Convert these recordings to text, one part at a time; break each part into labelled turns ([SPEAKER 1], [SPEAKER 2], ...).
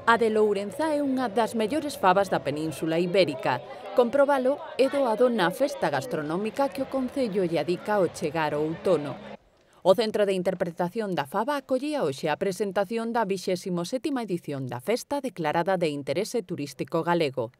[SPEAKER 1] A de Lourenzá é unha das mellores fabas da Península Ibérica. Comprobalo é doado na festa gastronómica que o Concello lle adica ao chegar o outono. O Centro de Interpretación da Faba acollía hoxe a presentación da 27ª edición da festa declarada de interese turístico galego.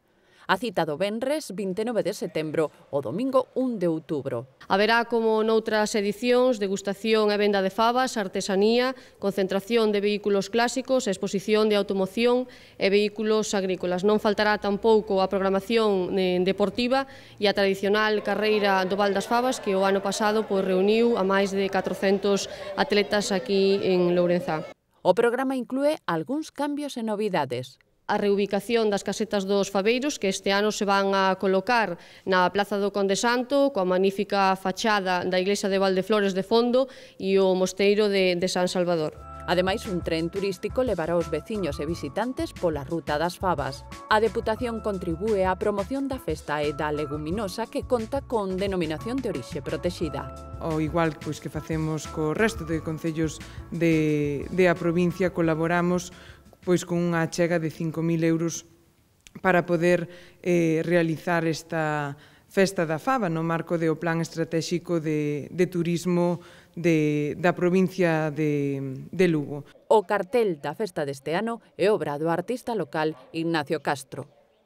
[SPEAKER 1] A cita do venres 29 de setembro o domingo 1 de outubro.
[SPEAKER 2] Haberá, como noutras edicións, degustación e venda de fabas, artesanía, concentración de vehículos clásicos, exposición de automoción e vehículos agrícolas. Non faltará tampouco a programación deportiva e a tradicional carreira do Val das Fabas que o ano pasado reuniu a máis de 400 atletas aquí en Lourenzá.
[SPEAKER 1] O programa inclúe algúns cambios e novidades.
[SPEAKER 2] A reubicación das casetas dos fabeiros que este ano se van a colocar na Plaza do Conde Santo coa magnífica fachada da Iglesia de Valdeflores de fondo e o mosteiro de San Salvador.
[SPEAKER 1] Ademais, un tren turístico levará os veciños e visitantes pola Ruta das Fabas. A Deputación contribúe á promoción da festa e da leguminosa que conta con denominación de orixe protexida.
[SPEAKER 3] Ao igual que facemos co resto de concellos de a provincia, colaboramos con unha achega de 5.000 euros para poder realizar esta Festa da Faba no marco do Plan Estratéxico de Turismo da provincia de Lugo.
[SPEAKER 1] O cartel da festa deste ano é obra do artista local Ignacio Castro.